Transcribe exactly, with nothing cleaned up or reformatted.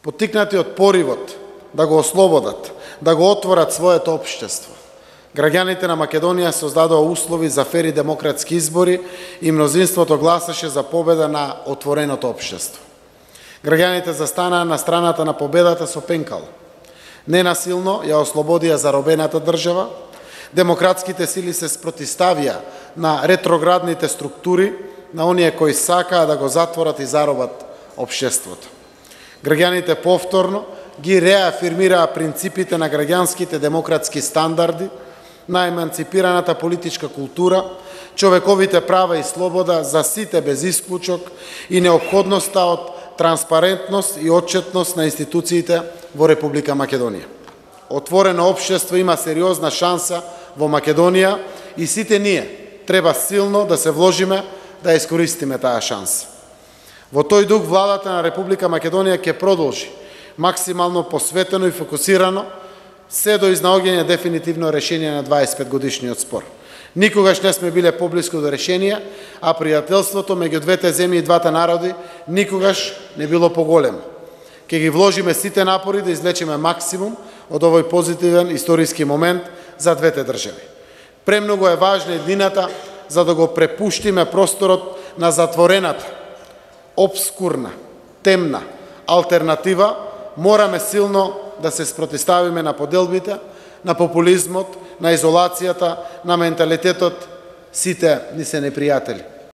Поттикнати од поривот да го ослободат, да го отворат своето општество, граѓаните на Македонија создадоа услови за фери демократски избори и мнозинството гласаше за победа на отвореното општество. Граѓаните застанаа на страната на победата со пенкал. Ненасилно ја ослободија заробената држава, демократските сили се спротиставија на ретроградните структури, на оние кои сакаа да го затворат и заробат општеството. Граѓаните повторно ги реафирмираа принципите на граѓанските демократски стандарди, на еманципираната политичка култура, човековите права и слобода за сите без исклучок и неопходноста од транспарентност и отчетност на институциите во Република Македонија. Отворено општество има сериозна шанса во Македонија и сите ние треба силно да се вложиме да искористиме таа шанса. Во тој дух владата на Република Македонија ќе продолжи максимално посветено и фокусирано се до изнаоѓање дефинитивно решение на дваесет и пет годишниот спор. Никогаш не сме биле поблиску до решение, а пријателството меѓу двете земји и двата народи никогаш не било поголемо. Ке ги вложиме сите напори да извлечеме максимум од овој позитивен историски момент за двете држави. Премногу е важна еднината за да го препуштиме просторот на затворената, обскурна, темна алтернатива. Мораме силно да се спротиставиме на поделбите, на популизмот, на изолацијата, на менталитетот. Сите ни се непријатели.